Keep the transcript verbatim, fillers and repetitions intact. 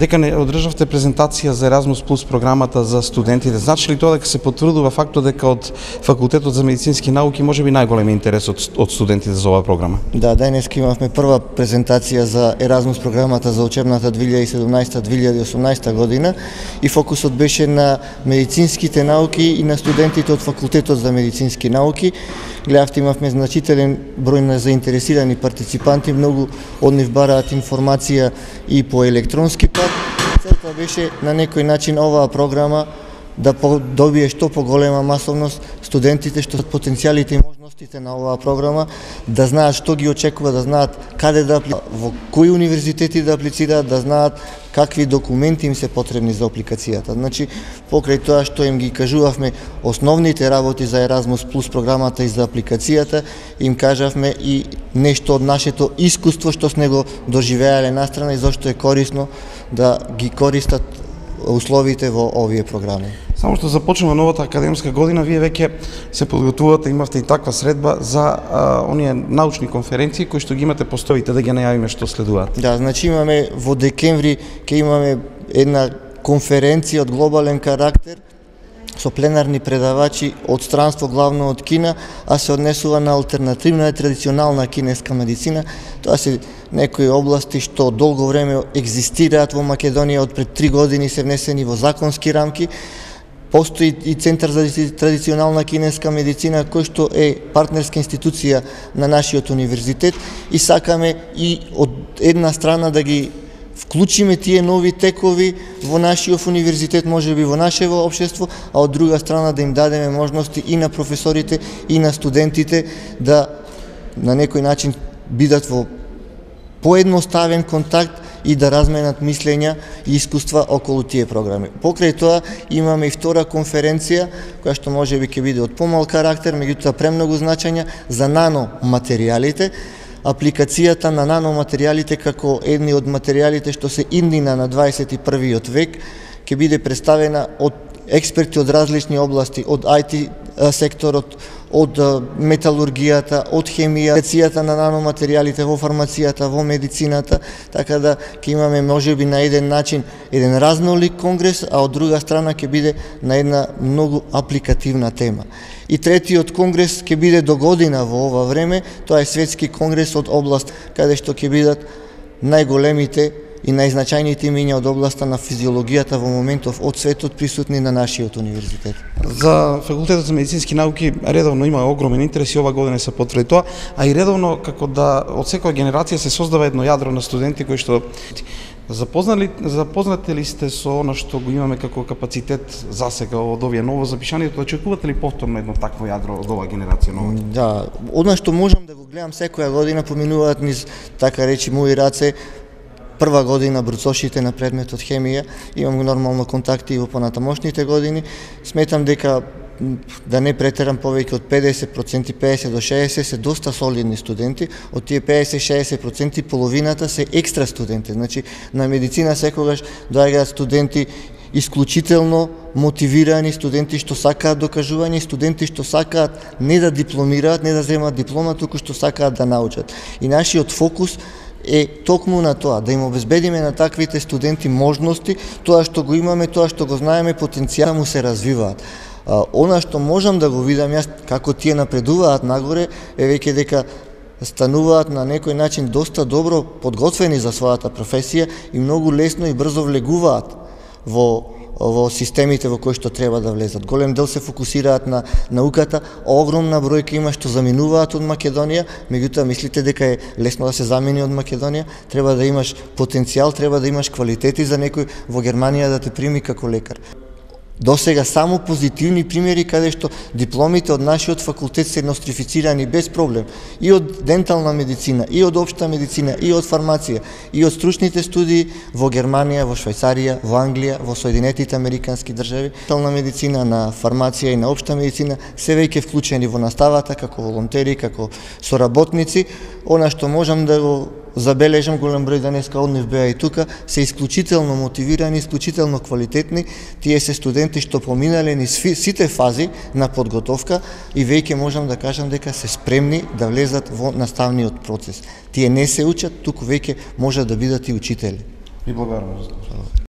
дека не одржавте презентација за Еразмус плюс програмата за студентите. Значи ли тоа дека се потврдува фактот дека од Факултетот за медицински науки можеби најголем интерес од, од студентите за оваа програма? Да, денеска имавме прва презентација за Еразмус програмата за учебната две илјади и седумнаесета две илјади и осумнаесета година и фокусот беше на медицинските науки и на студентите од Факултетот за медицински науки. Гледавте, имавме значителен број на заинтересирани партиципанти, многу од нив бараат информација и по електронски пат. Целта беше на некој начин оваа програма да добие што поголема масовност, студентите што потенцијалите и можностите на оваа програма, да знаат што ги очекува, да знаат каде да аплицираат, во кои универзитети да аплицираат, да знаат какви документи им се потребни за апликацијата. Значи, покрај тоа што им ги кажувавме основните работи за Еразмус плюс програмата и за апликацијата, им кажавме и нешто од нашето искуство што сме го доживеале настрана и зашто е корисно да ги користат условите во овие програми. Само што започнува новата академска година, вие веќе се подготвувате, имавте и таква средба за а, оние научни конференции кои што ги имате постоите, да ги најавиме што следуваат. Да, значи имаме во декември ќе имаме една конференција од глобален карактер со пленарни предавачи од странство, главно од Кина, а се однесува на алтернативна и традиционална кинеска медицина. Тоа се некои области што долго време екзистираат во Македонија, од пред три години се внесени во законски рамки. Постои и Центар за традиционална кинеска медицина, кој што е партнерска институција на нашиот универзитет и сакаме и од една страна да ги вклучиме тие нови текови во нашиот универзитет, можеби во нашево општество, а од друга страна да им дадеме можности и на професорите и на студентите да на некој начин бидат во поедноставен контакт и да разменат мислења и искуства околу тие програми. Покрај тоа имаме и втора конференција, која што можеби ќе биде од помал карактер, меѓутоа премногу значење за наноматеријалите. Апликацијата на наноматеријалите како едни од материјалите што се иднина на дваесет и првиот век ќе биде представена од експерти од различни области, од ај ти секторот, од металургијата, од хемија, апликацијата на наноматеријалите во фармацијата, во медицината, така да ќе имаме можеби на еден начин еден разнолик конгрес, а од друга страна ќе биде на една многу апликативна тема. И третиот конгрес ќе биде до година во ова време, тоа е светски конгрес од област каде што ќе бидат најголемите и најзначајните имиња од областа на физиологијата во моментов од светот присутни на нашиот универзитет. За Факултетот за медицински науки редовно има огромен интерес и ова година се потврди тоа, а и редовно како да од секоја генерација се создава едно јадро на студенти кои што запознали запознате ли сте со она што го имаме како капацитет засега од овие ново запишанието, очекувате ли повторно едно такво јадро од оваа генерација нова? Да, она што можам да го гледам секоја година поминуваат низ така речи мои раце. Прва година бруцошите на предметот хемија, имам нормално контакти и во понатамошните години. Сметам дека да не претерам повеќе од педесет проценти, педесет до шеесет се доста солидни студенти, од тие педесет до шеесет проценти половината се екстра студенти. Значи на медицина секогаш доаѓаат студенти исклучително мотивирани, студенти што сакаат докажување, студенти што сакаат не да дипломираат, не да земат диплома, туку што сакаат да научат. И нашиот фокус е токму на тоа, да им обезбедиме на таквите студенти можности, тоа што го имаме, тоа што го знаеме, потенцијалот му се развиваат. А, она што можам да го видам јас, како тие напредуваат нагоре, е веќе дека стануваат на некој начин доста добро подготвени за својата професија и многу лесно и брзо влегуваат во во системите во кои што треба да влезат. Голем дел се фокусираат на науката, огромна бројка има што заминуваат од Македонија, меѓутоа мислите дека е лесно да се замини од Македонија, треба да имаш потенцијал, треба да имаш квалитети за некој во Германија да те прими како лекар. До сега само позитивни примери каде што дипломите од нашиот факултет се нострифицирани без проблем и од дентална медицина, и од општа медицина, и од фармација, и од стручните студии во Германија, во Швајцарија, во Англија, во Соединетите Американски држави. Дентална медицина, на фармација и на општа медицина се веќе вклучени во наставата како волонтери, како соработници. Она што можам да го забележам, голем број денеска од нив беа и тука, се исклучително мотивирани, исклучително квалитетни. Тие се студенти што поминале низ сите фази на подготовка и веќе можам да кажам дека се спремни да влезат во наставниот процес. Тие не се учат, туку веќе можат да бидат и учители. Ви благодарам.